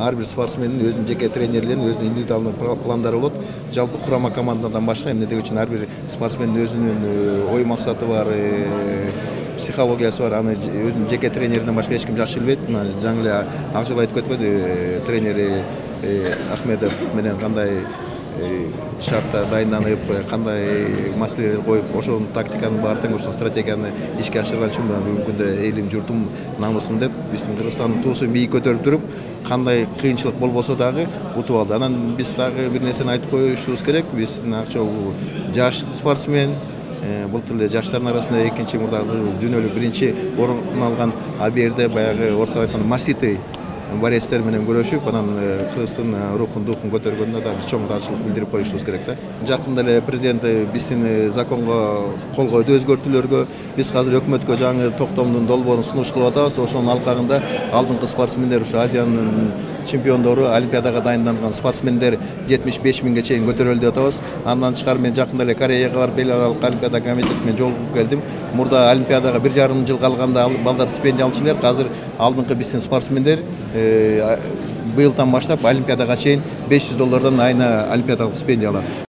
ар бир спортсмендин өзүнүн жеке тренерлеринин өзүнүн индивидуалдуу пландары болот. Жалпы курама командадан башка эмне деген үчүн ар бир спортсмендин өзүнүн ой максаты бар, психологиясы бар. Аны өзүнүн жеке тренеринен башка эч ким жакшы билбейт. Мына жаңы эле ак жолу айтып кетпеди, тренери Ахмедов менен кандай шартта дайынданып, кандай маселелер коюп, ошол тактиканын баары тең ошол стратегияны ишке ашырган үчүн бүгүнкү күндө элим, журтум, намысым деп биздин Кыргызстандын туусун бийик көтөрүп туруп, кандай кыйынчылык болбосо дагы утуп алды. Анан биз дагы бир нерсени айтып коюшубуз керек. Биздин Акчол жаш спортсмен, былтыр эле жаштардын арасында экинчи мурдагы дүйнөлүк биринчи орун алган. А бул жерде баягы орто айтканда маситы борецтер менен күрөшүп, анан Кыргыздын рухун, духун көтөргөнүнө да биз чоң ыраазычылык билдирип коюшубуз керек да. Жакында эле президент биздин законго кол койду, өзгөртүүлөргө. Биз азыр өкмөткө жаңы токтомдун долбоорун сунуш кылып атабыз. Ошонун алкагында алдыңкы спортсмендер, ушу Азиянын чемпиондору, олимпиадага дайынданган спортсмендер 75 миңге чейин көтөрүлдү деп атабыз. Андан тышкары мен жакында эле Кореяга барып, эл аралык олимпиада комитети менен жолугуп келдим. Мурда олимпиадага 1,5 жыл калганда балдар стипендия алчу элер. Азыр алдыңкы биздин спортсмендер быйылдан баштап олимпиадага чейин $500 айына олимпиадалык стипендия алат.